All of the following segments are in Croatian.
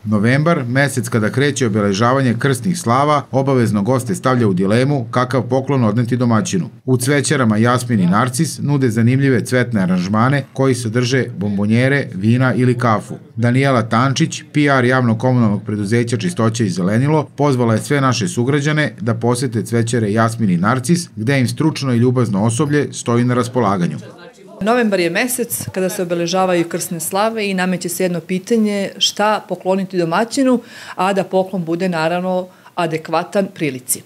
Novembar, mesec kada kreće obeležavanje krsnih slava, obavezno goste stavlja u dilemu kakav poklon odneti domaćinu. U cvećarama Jasmin i Narcis nude zanimljive cvetne aranžmane koji sadrže bombonjere, vina ili kafu. Danijela Tančić, PR javno-komunalnog preduzeća Čistoća i zelenilo, pozvala je sve naše sugrađane da posete cvećare Jasmin i Narcis, gde im stručno i ljubazno osoblje stoji na raspolaganju. Novembar je mesec kada se obeležavaju krsne slave i nameće se jedno pitanje šta pokloniti domaćinu, a da poklon bude naravno adekvatan prilici.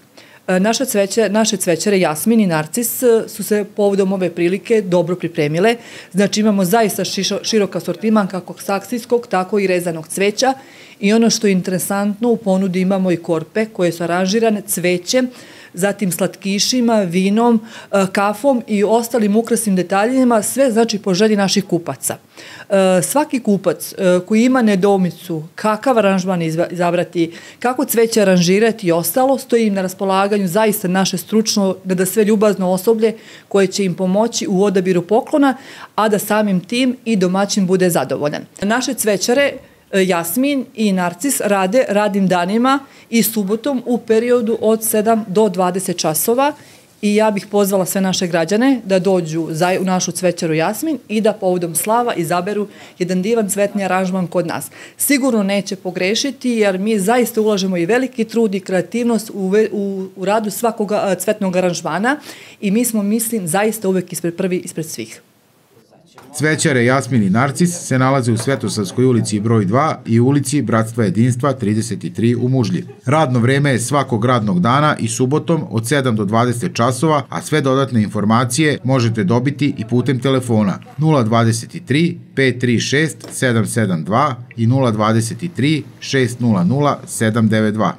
Naše cvećare Jasmin i Narcis su se povodom ove prilike dobro pripremile. Znači imamo zaista širok asortiman kako saksijskog, tako i rezanog cveća i ono što je interesantno u ponudi imamo i korpe koje su aranžirane cvećem, zatim slatkišima, vinom, kafom i ostalim ukrasnim detaljima, sve znači po želji naših kupaca. Svaki kupac koji ima nedoumicu kakav aranžman izabrati, kako cveće aranžirati i ostalo, stoji im na raspolaganju zaista naše stručno, da sve ljubazno osoblje koje će im pomoći u odabiru poklona, a da samim tim i domaćin bude zadovoljan. Naše cvećare Jasmin i Narcis rade radnim danima i subotom u periodu od 7 do 20 časova i ja bih pozvala sve naše građane da dođu u našu cvećaru Jasmin i da povodom slava izaberu jedan divan cvetni aranžman kod nas. Sigurno neće pogrešiti jer mi zaista ulažemo i veliki trud i kreativnost u radu svakog cvetnog aranžmana i mi smo, mislim, zaista uvek prvi ispred svih. Cvećare Jasmin i Narcis se nalaze u Svetosavskoj ulici broj 2 i ulici Bratstva jedinstva 33 u Mužlji. Radno vreme je svakog radnog dana i subotom od 7 do 20 časova, a sve dodatne informacije možete dobiti i putem telefona 023 536 772 i 023 600 792.